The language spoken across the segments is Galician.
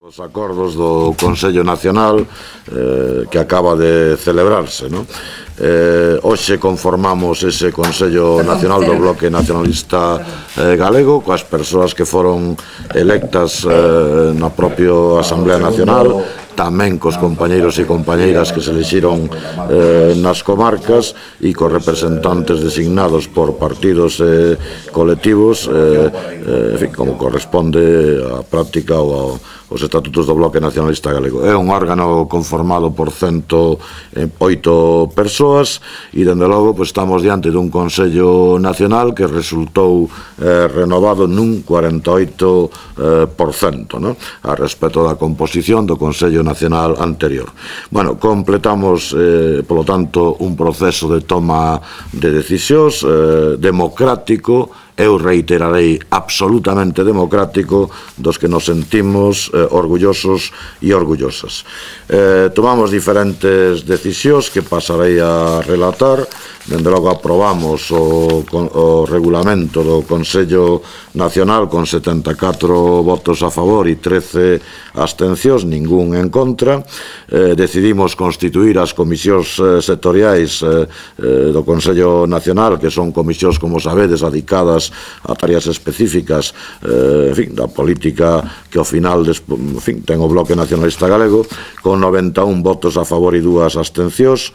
Os acordos do Consello Nacional que acaba de celebrarse, non? Hoxe conformamos ese Consello Nacional do Bloque Nacionalista Galego coas persoas que foron electas na propia Asamblea Nacional, tamén cos compañeiros e compañeiras que se elixiron nas comarcas e cos representantes designados por partidos e colectivos, en fin, como corresponde á práctica ou os estatutos do Bloque Nacionalista Galego. É un órgano conformado por 108 persoas e, dende logo, estamos diante dun Consello Nacional que resultou renovado nun 48% a respecto da composición do Consello Nacional anterior. Bueno, completamos, polo tanto, un proceso de toma de decisións democrático, eu reiterarei, absolutamente democrático, dos que nos sentimos orgullosos e orgullosas. Tomamos diferentes decisións que pasarei a relatar. Dende logo aprobamos o regulamento do Consello Nacional con 74 votos a favor e 13 abstencións, ningún en contra. Decidimos constituir as comisións sectoriais do Consello Nacional, que son comisións, como sabedes, dedicadas a tareas específicas da política que ao final ten o Bloque Nacionalista Galego, con 91 votos a favor e 2 abstencións.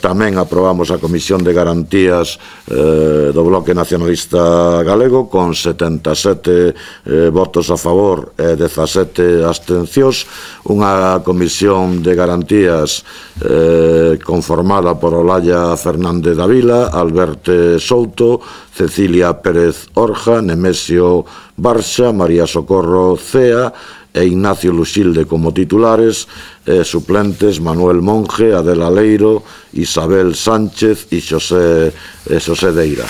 Tamén aprobamos a Comisión de Garantías do Bloque Nacionalista Galego con 77 votos a favor e 17 abstencións. Unha Comisión de Garantías conformada por Olalla Fernández Davila, Alberto Souto, Cecilia Pérez Orja, Nemesio Barxa, María Socorro Cea e Ignacio Luxilde como titulares, suplentes Manuel Monge, Adela Leiro, Isabel Sánchez e Xosé Deira.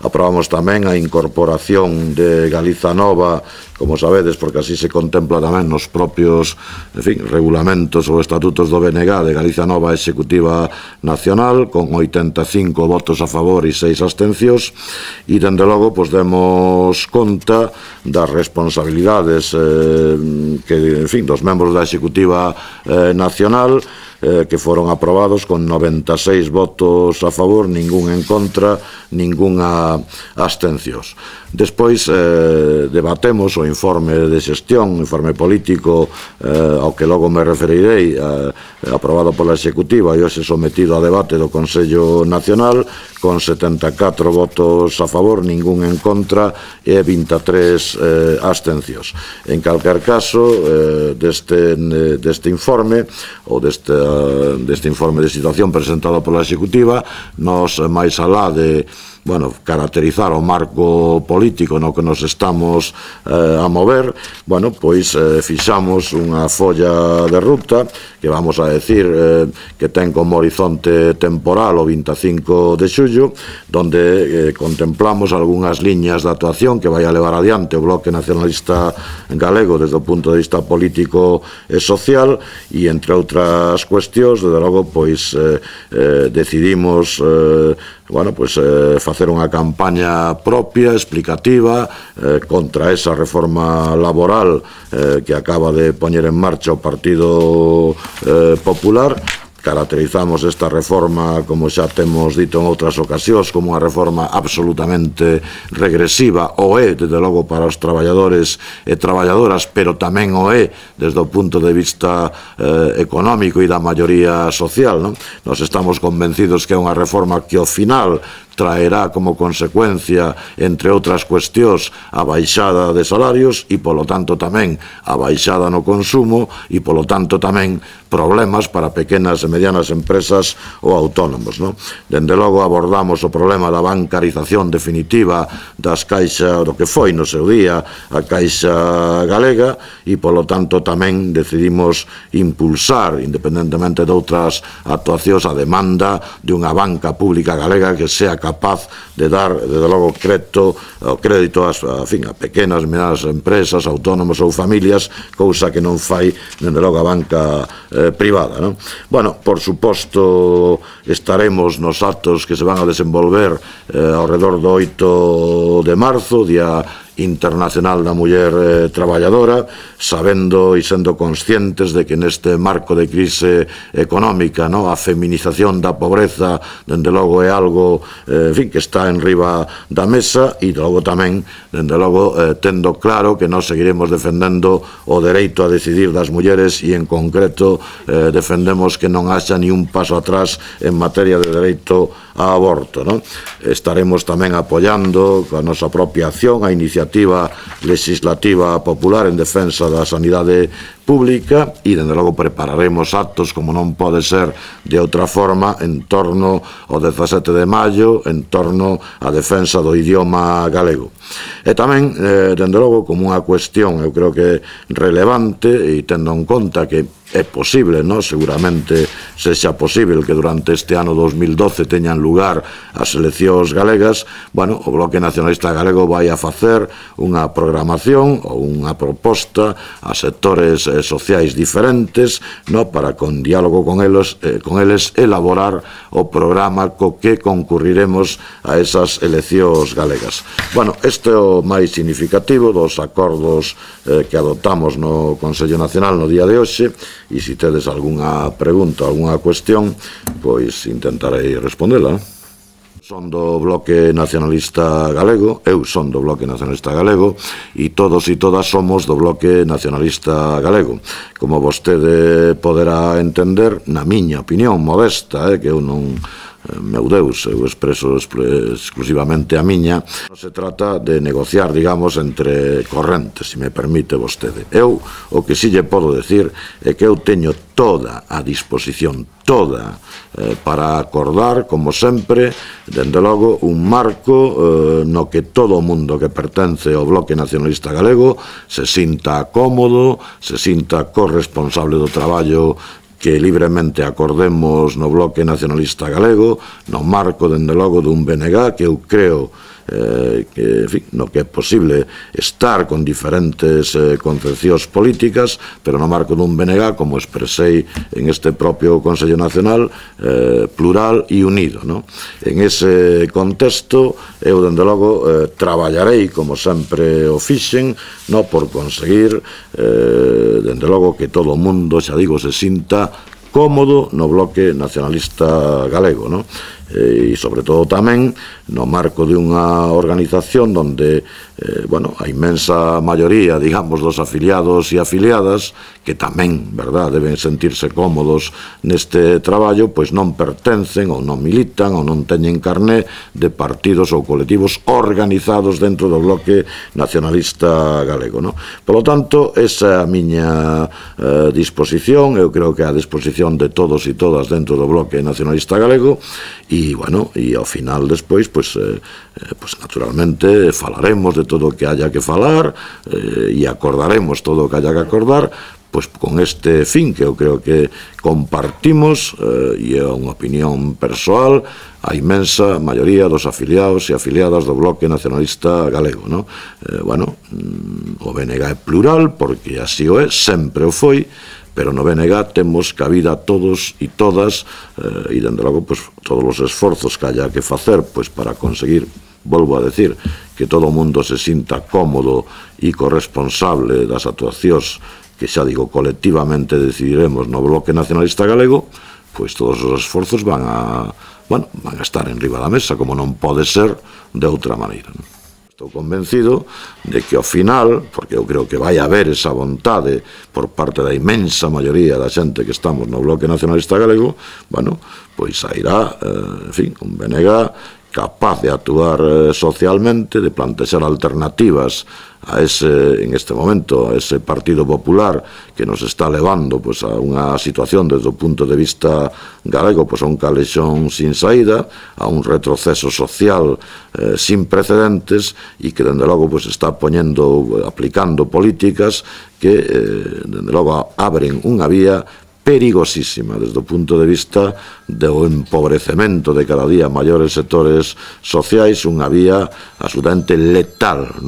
Aprobamos tamén a incorporación de Galiza Nova, como sabedes, porque así se contempla tamén nos propios regulamentos ou estatutos do BNG de Galiza Nova Executiva Nacional, con 85 votos a favor e 6 abstencións, e dende logo demos conta das responsabilidades dos membros da Executiva Nacional, que foron aprobados con 96 votos a favor, ningún en contra, ningunha abstencións. Despois debatemos o informe de xestión, informe político, ao que logo me referirei, aprobado pola Executiva e hoxe sometido a debate do Consello Nacional, con 74 votos a favor, ningún en contra e 23 abstencións. En calquer caso, deste informe, ou deste informe de situación presentado pola Executiva, nos, máis alá de caracterizar o marco político no que nos estamos a mover, fixamos unha folla de ruta que vamos a decir que ten como horizonte temporal o 25 de xullo, donde contemplamos algunhas liñas de actuación que vai a levar adiante o Bloque Nacionalista Galego desde o punto de vista político e social, e entre outras cuestións, desde logo, decidimos facer unha campaña propia, explicativa, contra esa reforma laboral que acaba de poñer en marcha o Partido Popular. Caracterizamos esta reforma, como xa temos dito en outras ocasións, como unha reforma absolutamente regresiva, o é, desde logo, para os traballadores e traballadoras, pero tamén o é desde o punto de vista económico e da maioría social. Nos estamos convencidos que é unha reforma que ao final traerá como consecuencia, entre outras cuestións, a baixada de salarios e, polo tanto, tamén a baixada no consumo e, polo tanto, tamén problemas para pequenas e medianas empresas ou autónomos. Dende logo abordamos o problema da bancarización definitiva das caixas, do que foi no seu día a Caixa Galega, e, polo tanto, tamén decidimos impulsar, independentemente de outras actuacións, a demanda de unha banca pública galega que sea capaz de dar, desde logo, crédito a pequenas e medianas empresas, autónomos ou familias, cousa que non fai, dende logo, a banca privada. Por suposto, estaremos nos actos que se van a desenvolver ao redor do 8 de marzo, día Internacional da Muller Traballadora, sabendo e sendo conscientes de que neste marco de crise económica a feminización da pobreza dende logo é algo que está en riba da mesa, e logo tamén dende logo tendo claro que nós seguiremos defendendo o dereito a decidir das mulleres, e en concreto defendemos que non haxa ni un paso atrás en materia de dereito a aborto. Estaremos tamén apoiando a nosa propia acción a iniciativa legislativa popular en defensa da sanidade pública, e dende logo prepararemos actos, como non pode ser de outra forma, en torno ao 17 de maio, en torno á defensa do idioma galego. E tamén, dende logo, como unha cuestión, eu creo que relevante, e tendo en conta que é posible, seguramente sexa posible que durante este ano 2012 teñan lugar as eleccións galegas, o Bloque Nacionalista Galego vai a facer unha programación ou unha proposta a sectores sociais diferentes para, con diálogo con eles, elaborar o programa co que concurriremos a esas eleccións galegas. Este é o máis significativo dos acordos que adoptamos no Consello Nacional no día de hoxe, e se tedes algunha pregunta, algunha cuestión, pois intentarei respondela. Son do Bloque Nacionalista Galego, eu son do Bloque Nacionalista Galego, e todos e todas somos do Bloque Nacionalista Galego. Como vostede poderá entender, na miña opinión modesta, que eu non... meu Deus, eu expreso exclusivamente a miña, non se trata de negociar, digamos, entre correntes, se me permite vostede. Eu, o que si lle podo decir é que eu teño toda a disposición, toda, para acordar, como sempre, dende logo, un marco no que todo o mundo que pertence ao Bloque Nacionalista Galego se sinta cómodo, se sinta corresponsable do traballo que libremente acordemos no Bloque Nacionalista Galego, no marco, dende logo, dun BNG, que eu creo no que é posible estar con diferentes concepcións políticas, pero no marco dun BNG, como expresei en este propio Consello Nacional, plural e unido. En ese contexto, eu, dende logo, traballarei, como sempre o fixen, por conseguir, dende logo, que todo o mundo, xa digo, se sinta cómodo no Bloque Nacionalista Galego, e sobre todo tamén no marco de unha organización onde a inmensa maioría, digamos, dos afiliados e afiliadas, que tamén, verdad, deben sentirse cómodos neste traballo, pois non pertencen ou non militan ou non teñen carné de partidos ou colectivos organizados dentro do Bloque Nacionalista Galego. Por lo tanto, esa é a miña disposición, eu creo que é a disposición de todos e todas dentro do Bloque Nacionalista Galego, e ao final despois, pois naturalmente falaremos de todo o que haya que falar e acordaremos todo o que haya que acordar, pois con este fin que eu creo que compartimos, e é unha opinión persoal, a inmensa maioría dos afiliados e afiliadas do Bloque Nacionalista Galego. O BNG é plural, porque así o é, sempre o foi, pero no BNG temos cabida todos e todas, e dende logo todos os esforzos que haya que facer para conseguir, volvo a decir, que todo o mundo se sinta cómodo e corresponsable das actuacións que, xa digo, colectivamente decidiremos no Bloque Nacionalista Galego, pois todos os esforzos van a estar en riba da mesa, como non pode ser de outra maneira. Estou convencido de que ao final, porque eu creo que vai haber esa vontade por parte da inmensa maioría da xente que estamos no Bloque Nacionalista Galego, pois sairá, un BNG capaz de actuar socialmente, de plantexar alternativas a ese, en este momento, a ese Partido Popular que nos está levando a unha situación desde o punto de vista galego, a un calexón sin saída, a un retroceso social sin precedentes, e que dende logo está aplicando políticas que dende logo abren unha vía perigosísima desde o punto de vista do empobrecemento de cada día maiores sectores sociais, unha vía absolutamente letal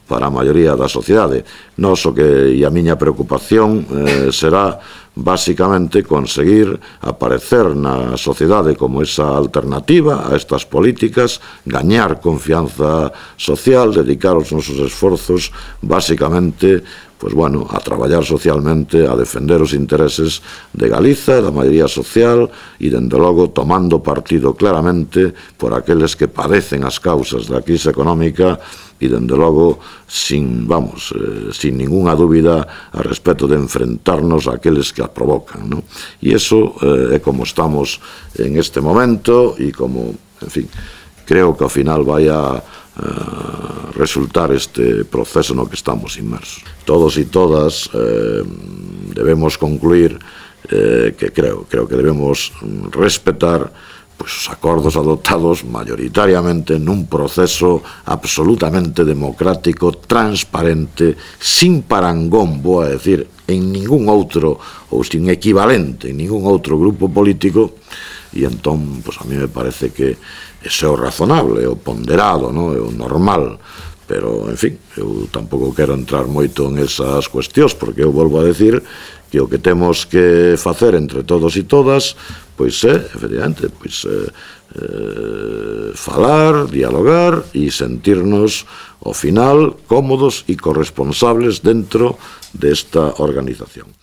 para a maioría da sociedade. Nos o que e a miña preocupación será basicamente conseguir aparecer na sociedade como esa alternativa a estas políticas, gañar confianza social, dedicar os nosos esforzos basicamente a traballar socialmente, a defender os intereses de Galiza, da maioría social e, dende logo, tomando partido claramente por aqueles que padecen as causas da crise económica e, dende logo, sin ningunha dúbida a respecto de enfrentarnos a aqueles que a provocan, non? E iso é como estamos en este momento e como, en fin, creo que ao final vai a resultar este proceso no que estamos inmersos. Todos e todas debemos concluir que creo que debemos respetar os acordos adoptados maioritariamente nun proceso absolutamente democrático, transparente, sin parangón, vou a decir, en ningún outro ou sin equivalente en ningún outro grupo político. E entón, a mí me parece que ese é o razonable, é o ponderado, é o normal, pero, en fin, eu tampouco quero entrar moito en esas cuestións, porque eu volvo a decir que o que temos que facer entre todos e todas, pois é, efectivamente, falar, dialogar e sentirnos, ao final, cómodos e corresponsables dentro desta organización.